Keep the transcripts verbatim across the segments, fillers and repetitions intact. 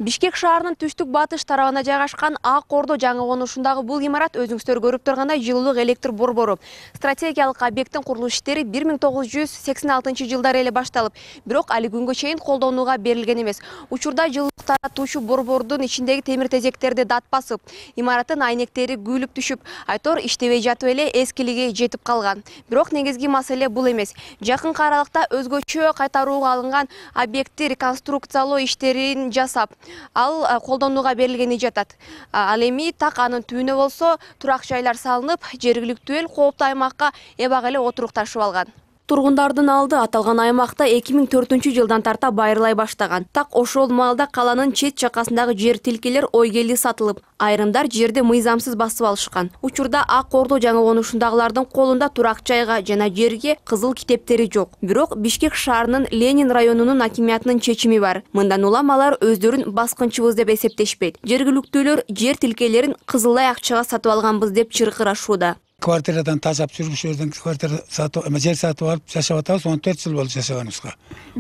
Бишкек шаарынын түштүк батыш тарабына жайгашкан Ак Ордо жаңы конушундагы бул имарат өзүңүздөр көрүп тургандай жылуулук электр борбору. Стратегиялык объекттин курулуш иштери бир миң тогуз жүз сексен алтынчы жылдары эле башталып, бирок али күнгө чейин колдонууга берилген эмес. Учурда жылуулук таратуучу борбордун ичиндеги темир тезектерди дат басып, имараттын айнектери күйүлүп түшүп, айтор иштебей жатып эле эскилиги жетип калган. Бирок негизги маселе бул эмес. Жакынкы аралыкта өзгөчө кайтарууга алынган объектти реконструкциялоо иштерин жасап, ал колдонууга берилгени жатат. Ал эми так анын түбүнө болсо турак жайлар салынып, жергиликтүү эл кооптуу аймакка эбак эле отурукташып алган. Тургундардын алды аталган аймакта эки миң төртүнчү жылдан тарта байырлай баштаган. Так ошол маалда каланын чет жакасындагы жер тилкелер ойгели сатылып, айрымдар жерди мыйзамсыз басып алышкан. Учурда Ак Ордо жаңы конушундагылардын колунда турак жайга жана жерге кызыл китептери жок. Бирок Бишкек шаарынын Ленин районунун акимиятынын чечими бар. Мындан улам алар өздөрүн баскынчыбыз деп эсептешпейт. Жергиликтүүлөр жер тилкелерин кызылдай акчага сатып алганбыз деп чыркырашууда. Квартирадан тажап жүрүп, жерден квартира сатып, жер сатып алып жашап атабыз, он төрт жыл болду жашаганыбызга.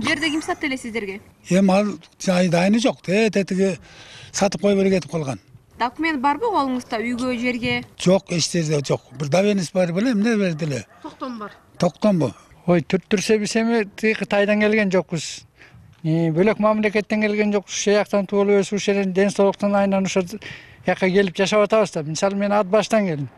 Жерди ким сатты эле сиздерге? Эми ал жайдайыны жок, тетиги сатып коюп эле кетип калган. Документ барбы колуңузда үйгө, жерге? Жок, эч жерде жок. Бир давенис бар беле, эмне берди эле? Токтом бар. Токтомбу? Ой, түртүрсө биз эми Кытайдан келген жокпуз. Бөлөк мамлекеттен келген жокпуз. Ушул жактан туулуп өсүп, ушул жерден ден соолуктун айынан ушул жака келип жашап атабыз да. Мисалы мен ат баштан келдим.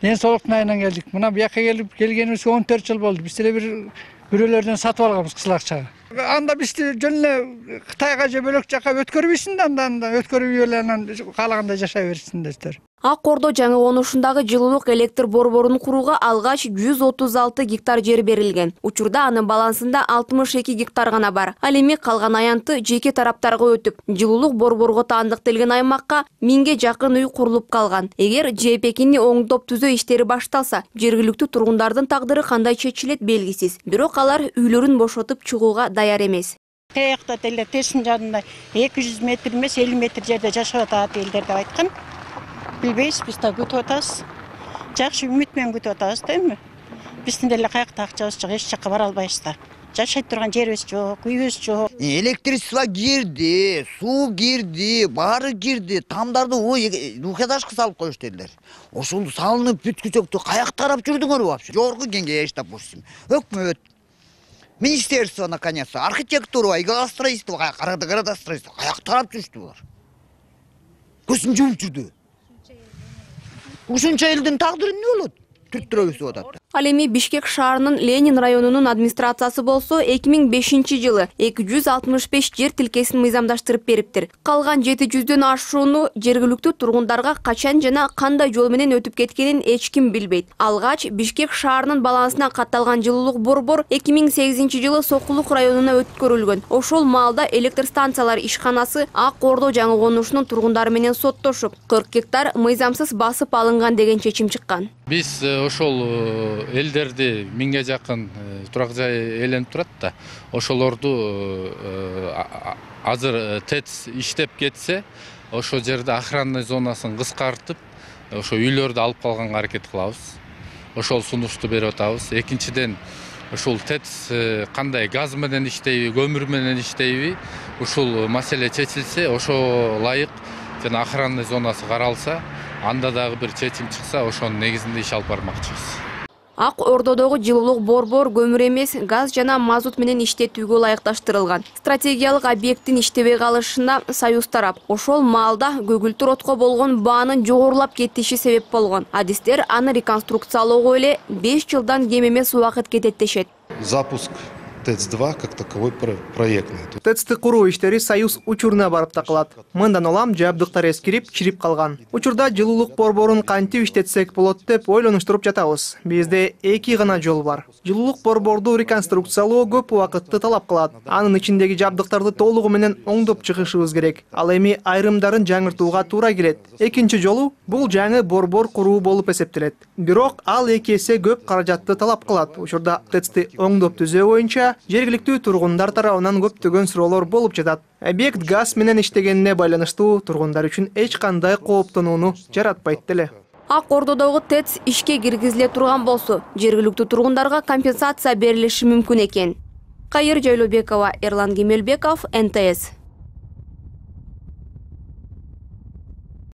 Ден соолуктун айынан келдик. Мына бу жака келип келгенибизге он төрт жыл болду. Биз деле бир бирөөлөрдөн сатып алганбыз кызыл акчага. Анда бизди жөн эле Кытайга же бөлөк жака өткөрбөйсүн да, анда өткөрүп эле анан каалагандай жашай берсиңдер. Ак Ордо жаңы конушундагы жылуулук электр борборун курууга алгач жүз отуз алты гектар жер берилген. Учурда анын балансында алтымыш эки гектар гана бар. Ал эми калган аянты жеке тараптарга өтүп, жылуулук борборго таандыкталган аймакка миңге жакын үй курулуп калган. Эгер жээпекини оңдоп түзөө иштери башталса, жергиликтүү тургундардын тагдыры кандай чечилет белгисиз. Бирок алар үйлөрүн бошотуп чыгууга даяр эмес. Каякта деле тесин жанында эки жүз метр эмес элүү метр жерде жашап атат элдер деп айткан. Билбейбиз, биз да күтүп атабыз. Жакшы үмүт менен күтүп атабыз да эми. Биздин деле каякта акчабыз жок, эч жакка бара албайбыз да. Жашай турган жерибиз жок, үйүбүз жок. Электричество кирди, суу кирди, баары кирди. Тамдарды двухэтажка салып коюшту элдер. Ошол салынып бүткүчөктү каякта карап жүрдүңөрбү вообще? Жогорку кеңеш, допустим, өкмөт, министерство наконец-то, архитектура, градостроительство, градостроительство каякта карап жүрүштү булар. Көзүн жумуп жүрдү. Ушунча элдин тагдыры эмне болот? Түрттүрө өсүп атат. Ал эми Бишкек шаарынын Ленин районунун администрациясы болсо эки миң бешинчи жылы эки жүз алтымыш беш жер тилкесин мыйзамдаштырып бериптир. Калган жети жүздөн ашууну жергиликтүү тургундарга качан жана кандай жол менен өтүп кеткенин эч ким билбейт. Алгач Бишкек шаарынын балансына катталган жылуулук борбор эки миң сегизинчи жылы Сокулук районуна өткөрүлгөн. Ошол маалда электр станциялар ишканасы Ак Ордо жаңы конушунун тургундары менен соттошуп, кырк гектар мыйзамсыз басып алынган деген чечим чыккан. Биз ошол элдерди миңге жакын турак жай ээленип турат да. Ошолорду азыр ТЭЦ иштеп кетсе, ошол жерде охранный зонасын кыскартып, ошо үйлөрдү алып калганга аракет кылабыз. Ошол сунушту берип атабыз. Экинчиден, ушул ТЭЦ кандай газ менен иштейби, көмүр менен иштейби, ушул маселе чечилсе, ошо ылайык жана охранный зонасы каралса, анда дагы бир чечим чыкса, ошонун негизинде иш алып бармакчыбыз. Ак Ордодогу жылуулук борбор көмүр эмес, газ жана мазут менен иштетүүгө ылайыкташтырылган. Стратегиялык объекттин иштебей калышына Союз тарап, ошол маалда көгүлтүр отко болгон баанын жогорулап кетиши себеп болгон. Адистер аны реконструкциялоого эле беш жылдан кем эмес убакыт кетет дешет. Запуск ТЭЦ два как таковой проектный. ТЭЦти куруу иштери Союз учуруна барып такылат. Мындан улам жабдыктар эскирип, чирип калган. Учурда жылуулук борборун кантип иштетсек болот деп ойлонуштуруп жатабыз. Бизде эки гана жол бар. Жылуулук борборду реконструкциялоо көп убакытты талап кылат. Анын ичиндеги жабдыктарды толугу менен оңдоп чыгышыбыз керек. Ал эми айрымдарын жаңыртууга туура келет. Экинчи жолу бул жаңы борбор куруу болуп эсептелет. Бирок ал эки эсе көп каражатты талап кылат. Учурда ТЭЦти оңдоп түзөө боюнча жергиликтүү тургундар тарабынан көптөгөн суроолор болуп жатат. Объект газ менен иштегенине байланыштуу тургундар үчүн эч кандай кооптонууну жаратпайт деле. Ак Ордодогу ТЭЦ ишке киргизиле турган болсо, жергиликтүү тургундарга компенсация берилиши мүмкүн экен. Кайыр Жайлообекова, Эрлан Кемелбеков, эн тэ эс.